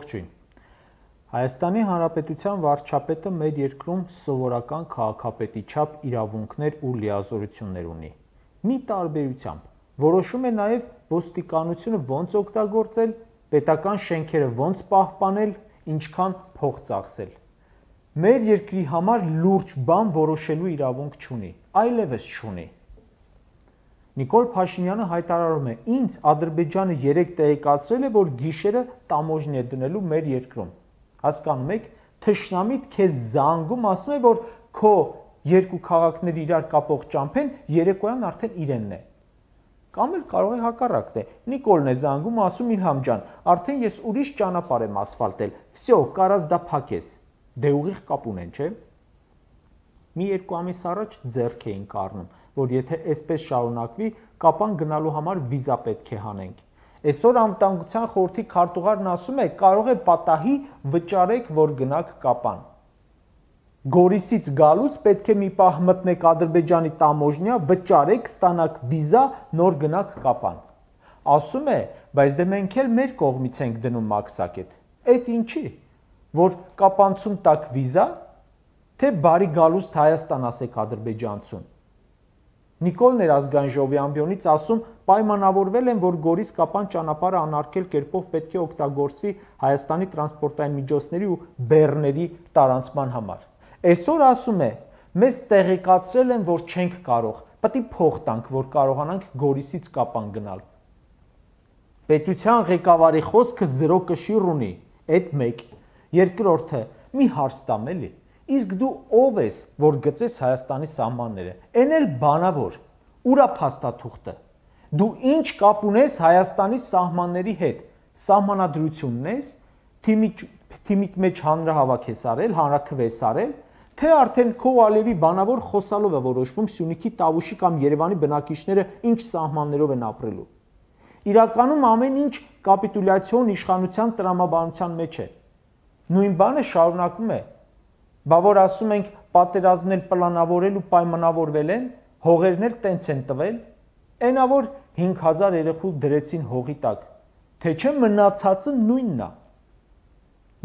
Ողջույն։ Հայաստանի Հանրապետության վարչապետը մեր երկրում սովորական քաղաքապետի չափ իրավունքներ ու լիազորություններ ունի։ Մի տարբերությամբ որոշում է նաև ոստիկանությունը ոնց օգտագործել, պետական շենքերը ոնց պահպանել, ինչքան փող ծախսել։ Մեր երկրի համար լուրջ բան որոշելու իրավունք չունի, այլևս չունի։ Նիկոլ Փաշինյանը հայտարարում է. ինձ Ադրբեջանը 3 տեղեկացրել է, որ գիշերը տամոժնի է դնելու մեր երկրում։ Հասկանում եք, թշնամիտ քեզ զանգում ասում է, որ քո երկու քաղաքների իրար կապող ճամփեն երեկոյան արդեն իրենն է։ Կամ էլ կարող է հակառակն է։ Նիկոլն է զանգում, ասում Իլհամ ջան, արդեն ես ուրիշ ճանապարհ եմ ասֆալտել։ Վсё, կարաս դա փակես։ Դե ուղիղ կապ ունեն, չէ՞։ Մի 2 ամիս առաջ ձեռք էին կառնում, որ եթե այսպես շարունակվի, Կապան գնալու համար վիզա պետք է հանենք։ Այսօր անվտանգության խորհրդի քարտուղարն ասում է, կարող է պատահի վճարեք, որ գնաք Կապան։ Գորիսից գալուց պետք է մի պահ մտնեք Ադրբեջանի տամոժնյա, վճարեք, ստանաք վիզա, նոր գնաք Կապան։ Ասում է, բայց դե մենք էլ մեր կողմից ենք դնում մաքսակետ։ Էդ ինչի, որ կապանցում տակ վիզա, թե բարի գալուստ Հայաստան ասեք ադրբեջանցուն։ Նիկոլ Ներազգային ժողովի ամբիոնից ասում, պայմանավորվել են, որ Գորիս-Կապան ճանապարհը անարգել կերպով պետք է օգտագործվի Հայաստանի տրանսպորտային միջոցների ու բեռների տարանցման համար։ Այսօր ասում է, մեզ տեղեկացրել են, որ չենք կարող, պետք է փող տանք, որ կարողանանք Գորիսից Կապան գնալ։ Պետության ղեկավարի խոսքը 0 կշիռ ունի, այդ մեկ։ Երկրորդը, մի հարց տամ էլի։ Իսկ դու ով ես, որ գծես Հայաստանի սահմանները։ Էն էլ բանավոր, ուրա փաստաթուղթը։ Դու ինչ կապ ունես Հայաստանի սահմանների հետ։ Սահմանադրությունն ես, թիմիդ մեջ հանրահավաք ես արել, հանրաքվես արել, թե արդեն քո Ալիևի բանավոր խոսալով է որոշվում Սյունիքի, Տավուշի կամ Երևանի բնակիչները ինչ սահմաններով են ապրելու։ Իրականում ամեն ինչ կապիտուլյացիոն իշխանության տրամաբանության մեջ է։ Նույն բանը շարունակում է։ Բա որ ասում ենք պատերազմն էլ պլանավորել ու պայմանավորվել են, հողերն էլ տենց են տվել, այնա որ 5000 երեխու դրեցին հողի տակ, թե չէ մնացածը նույնն է։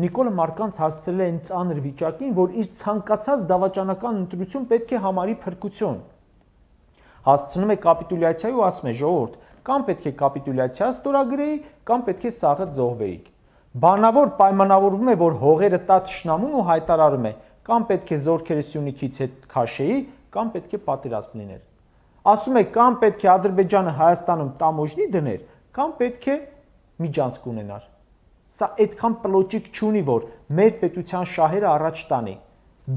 Նիկոլը մարդկանց հասցրել է այն ծանր վիճակին, որ իր ցանկացած դավաճանական ընտրություն պետք է համարի փրկություն։ Հասցնում է կապիտուլյացիայի ու ասում է ժողովուրդ, կամ պետք է կապիտուլյացիա ստորագրեի, կամ պետք է սաղը զոհվեիք։ Բանավոր պայմանավորվում է, որ հողերը տա թշնամուն ու հայտարարում է, կամ պետք է զորքերը Սյունիքից հետ քաշեի, կամ պետք է պատերազմ լիներ։ Ասում է, կամ պետք է Ադրբեջանը Հայաստանում տամոժնի դներ, կամ պետք է միջանցք ունենար։ Սա այդքան պլոճիկ չունի, որ մեր պետության շահերը առաջ տանի։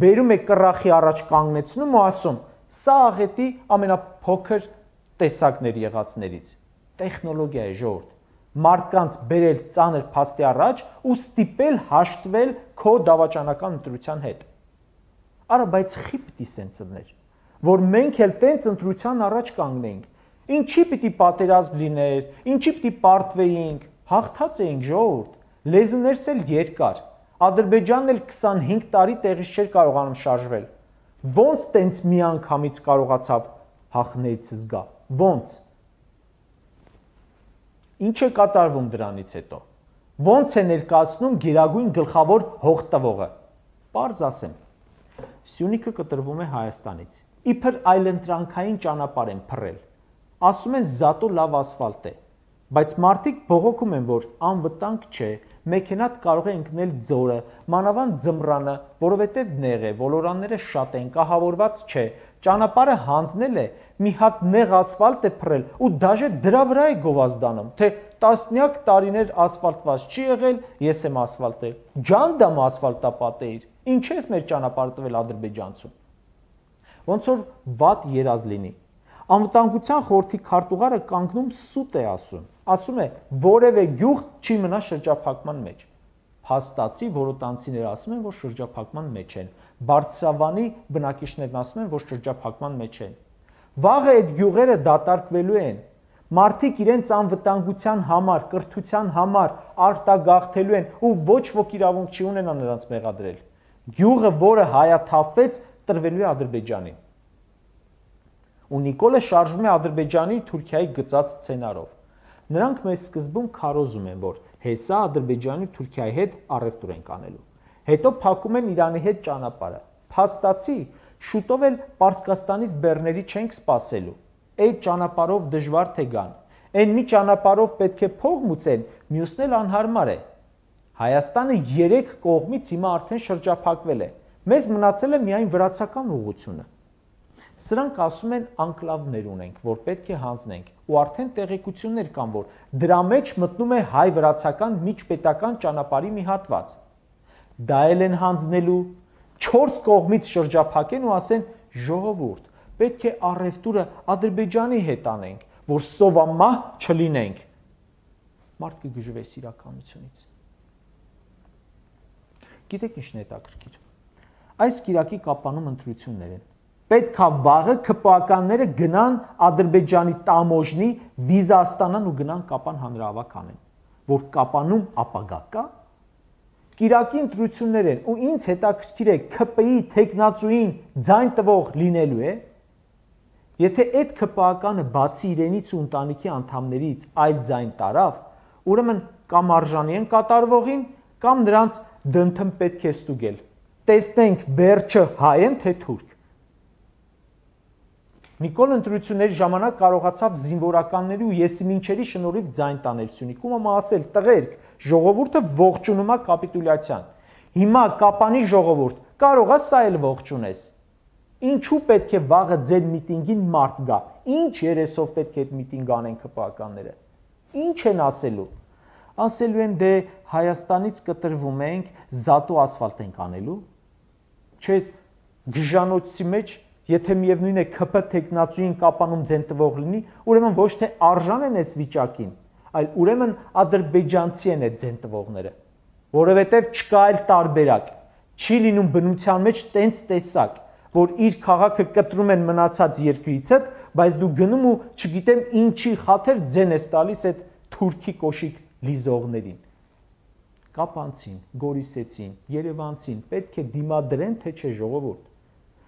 Բերում է կռախի առաջ կանգնեցնում ու ասում, սա աղետի ամենափոքր տեսակներ եղածներից։ Տեխնոլոգիա է ժողովուրդ։ Մարդկանց բերել ծանր փաստի առաջ ու ստիպել հաշտվել քո դավաճանական ընտրության հետ։ Արա, բայց խի պիտի սենց ըններ, որ մենք էլ տենց ընտրության առաջ կանգնենք։ Ինչի պիտի պատերազմ լիներ, ինչի պիտի պարտվեինք, հաղթած էինք ժողովուրդ, լեզուներս էլ երկար, Ադրբեջանն էլ 25 տարի տեղից չէր կարողանում շարժվել։ Ոնց տենց միանգամից կարողացավ հաղթներից զգա, ոնց։ Ինչ է կատարվում դրանից հետո։ Ոնց է ներկայացնում գերագույն գլխավոր հող տվողը։ Պարզ ասեմ։ Սյունիքը կտրվում է Հայաստանից։ Իբր այլընտրանքային ճանապարհ են փռել։ Ասում են զատո լավ ասֆալտ է, բայց մարդիկ բողոքում են, որ անվտանգ չէ, մեքենատ կարող է ընկնել ձորը, մանավանդ ձմռանը, որովհետև նեղ է, ոլորանները շատ են, կահավորված չէ, ճանապարհը հանձնել է, մի հատ նեղ ասֆալտ է փռել ու դաժե դրա վրա է գովազդանում, թե տասնյակ տարիներ ասֆալտված չի եղել, ես եմ ասֆալտել, ջանդամ ասֆալտապատեիր, ինչ ես մեր ճանապարհը տվել ադրբեջանցուն։ Ոնց որ վատ երազ լինի։ Անվտանգության խորհրդի քարտուղարը կանգնում սուտ է ասում է, որևէ գյուղ չի մնա շրջափակման մեջ։ Փաստացի որոտանցիները ասում են, որ շրջափակման մեջ են։ Բարձրավանի բնակիչներն ասում են, որ շրջափակման մեջ են։ Վաղը այդ գյուղերը դատարկվելու են։ Մարդիկ իրենց անվտանգության համար, կրթության համար արտագաղթելու են ու ոչ ոք իրավունք չի ունենա նրանց մեղադրել։ Գյուղը, որը հայաթափվեց, տրվելու է Ադրբեջանին։ Ու Նիկոլը շարժվում է Ադրբեջանի Թուրքիայի գծած սցենարով։ Նրանք մեզ սկզբում քարոզում են, որ Հեսա Ադրբեջանի ու Թուրքիայի հետ առևտուր ենք անելու։ Հետո փակում են Իրանի հետ ճանապարհը։ Փաստացի, շուտով էլ Պարսկաստանից բեռների չենք սպասելու։ Այդ ճանապարհով դժվար թե գան։ Այն մի ճանապարհով պետք է փող մուծեն, մյուսն էլ անհարմար է։ Հայաստանը 3 կողմից հիմա արդեն շրջափակվել է։ Մեզ մնացել է միայն վրացական ուղղությունը։ Սրանք ասում են անկլավներ ունենք, որ պետք է հանձնենք, ու արդեն տեղեկություններ կան, որ դրա մեջ մտնում է հայ-վրացական միջպետական ճանապարհի մի հատված։ Դա էլ են հանձնելու, 4 կողմից շրջափակեն ու ասեն ժողովուրդ, պետք է առևտուրը Ադրբեջանի հետ անենք, որ սովամահ չլինենք։ Մարդ կգժվես իրականությունից։ Գիտեք ինչն է հետաքրքիր։ Այս կիրակի կապանում ընտրություններ են։ Պետք է վաղը ՔՊԱ-կանները գնան Ադրբեջանի տամոժնի վիզա ստանան ու գնան Կապան հանրահավաք անեն, որ Կապանում ապագա կա։ Կիրակի ընտրություններ են ու ինձ հետաքրքիր է ՔՊ-ի տեխնացուին ձայն տվող լինելու է։ Եթե այդ ՔՊԱ-կանը բացի իրենից ու ընտանիքի անդամներից այլ ձայն տարավ, ուրեմն կամ արժանի են կատարվողին, կամ նրանց դնդում պետք է ստուգել։ Տեսնենք վերջը հայ են թե թուրք։ Նիկոլ ընտրությունների ժամանակ կարողացավ զինվորականների ու եսիմինչերի շնորհիվ ձայն տանել Սյունիքում, ասել տղերք, ժողովուրդը ողջունում է կապիտուլյացիան։ Հիմա Կապանի ժողովուրդ, կարող է սա էլ ողջունես։ Ինչու պետք է վաղը ձեր միտինգին մարդ գա։ Ինչ երեսով պետք է այդ միտինգ անեն ՔՊԱ-կանները։ Ինչ են ասելու։ Ասելու են դե Հայաստանից կտրվում ենք, զատու ասֆալտ ենք անելու։ Չես գժանոցի մեջ Եթե միևնույն է ՔՊ տեխնացուին Կապանում ձեն տվող լինի, ուրեմն ոչ թե արժան են այս վիճակին, այլ ուրեմն ադրբեջանցի են այդ ձեն տվողները, որովհետև չկա այլ տարբերակ, չի լինում բնության մեջ տենց տեսակ, որ իր քաղաքը կտրում են մնացած երկրից հետ, բայց դու գնում ու չգիտեմ ինչի խաթեր ձեն ես տալիս այդ թուրքի կոշիկ լիզողներին։ Կապանցին, գորիսեցին, երևանցին պետք է դիմադրեն, թե չէ ժողովուրդ։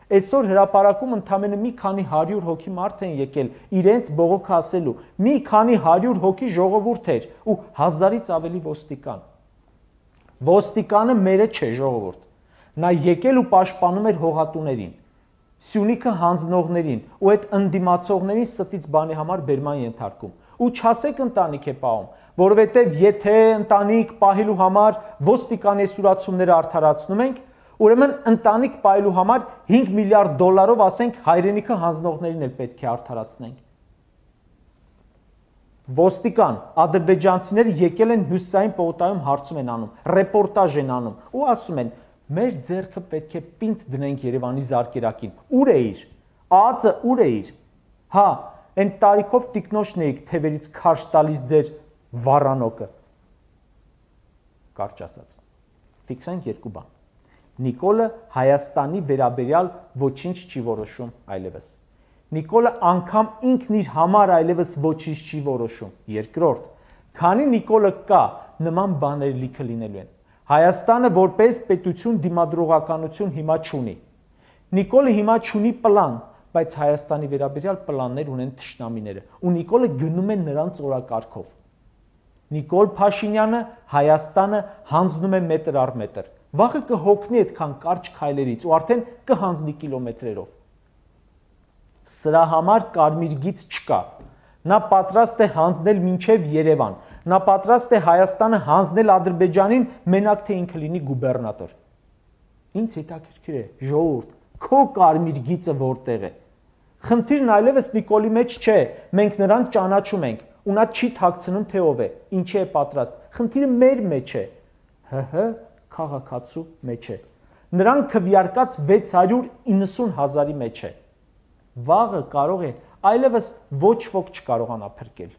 Այսօր հրապարակում ընդամենը մի քանի 100 հոգի մարդ են եկել իրենց բողոք ասելու, մի քանի 100 հոգի ժողովուրդ էր ու 1000-ից ավելի ոստիկան։ Ոստիկանը մերը չէ ժողովուրդ։ Նա եկել ու պաշտպանում էր հողատուներին, Սյունիքը հանձնողներին ու այդ ընդդիմացողներին ստից բանի համար բերման ենթարկում։ Ու չասեք ընտանիք է պահում, որովհետև եթե ընտանիք պահելու համար ոստիկանեսուրացումները արդարացնում ենք, ուրեմն ընտանիք պահելու համար 5 միլիարդ դոլարով ասենք հայրենիքը հանձնողներին էլ պետք է արդարացնենք։ Ոստիկան, ադրբեջանցիները եկել են հյուսիսային պողոտայում հարցում են անում, ռեպորտաժ են անում ու ասում են մեր ձեռքը պետք է պինդ դնենք Երևանի զարկերակին։ Ուր է իր։ Ածը ուր է իր։ Հա, այն տարիքով տիկնոշն էիք թևերից քարշ տալիս ձեր վառանոկը։ Կարճ ասած։ Ֆիքսենք երկու բան։ Նիկոլը Հայաստանի վերաբերյալ ոչինչ չի որոշում այլևս։ Նիկոլը անգամ ինքն իր համար այլևս ոչինչ չի որոշում։ Երկրորդ, քանի Նիկոլը կա, նման բաներ լիքը լինելու են։ Հայաստանը որպես պետություն դիմադրողականություն հիմա չունի։ Նիկոլը հիմա չունի պլան, բայց Հայաստանի վերաբերյալ պլաններ ունեն թշնամիները, ու Նիկոլը գնում է նրանց օրակարգով։ Նիկոլ Փաշինյանը Հայաստանը հանձնում է մետր առ մետր։ Վաղը կհոգնի այդքան կարճ քայլերից ու արդեն կհանձնի կիլոմետրերով։ Սրա համար կարմիր գիծ չկա։ Նա պատրաստ է հանձնել մինչև Երևան։ Նա պատրաստ է Հայաստանը հանձնել Ադրբեջանին, մենակ թե ինքը լինի գուբերնատոր։ Ինձ հետաքրքիր է, ժողովուրդ, քո կարմիր գիծը որտեղ է։ Խնդիրն այլևս Նիկոլի մեջ չէ, մենք նրան ճանաչում ենք, ու նա չի թաքցնում թե ով է, ինչի է պատրաստ։ Խնդիրը մեր մեջ է։ ՀՀ քաղաքացու մեջ է։ Նրան քվեարկած 690 հազարի մեջ է։ Վաղը կարող է այլևս ոչ ոք չկարողանա փրկել։